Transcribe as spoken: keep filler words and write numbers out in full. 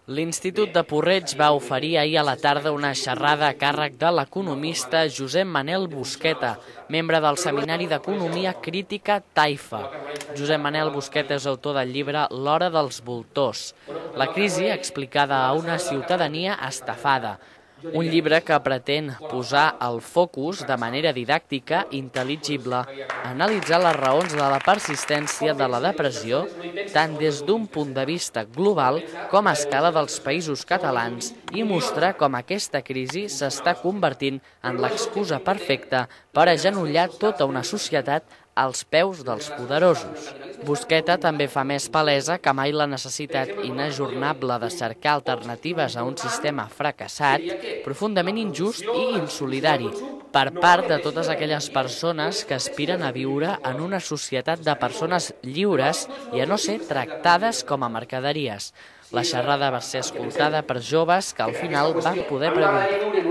L'Institut de Porreig va oferir ahir a la tarda una xerrada a càrrec de l'economista Josep Manel Busqueta, membre del Seminari d'Economia Crítica Taifa. Josep Manel Busqueta és autor del llibre L'hora dels voltors, la crisi explicada a una ciutadania estafada. Un llibre que pretén posar el focus de manera didàctica, intel·ligible, analitzar les raons de la persistència de la depressió tant des d'un punt de vista global com a escala dels països catalans i mostrar com aquesta crisi s'està convertint en l'excusa perfecta per agenollar tota una societat als peus dels poderosos. Busqueta també fa més palesa que mai la necessitat inajornable de cercar alternatives a un sistema fracassat, profundament injust i insolidari, per part de totes aquelles persones que aspiren a viure en una societat de persones lliures i a no ser tractades com a mercaderies. La xerrada va ser escoltada per joves que al final van poder preguntar.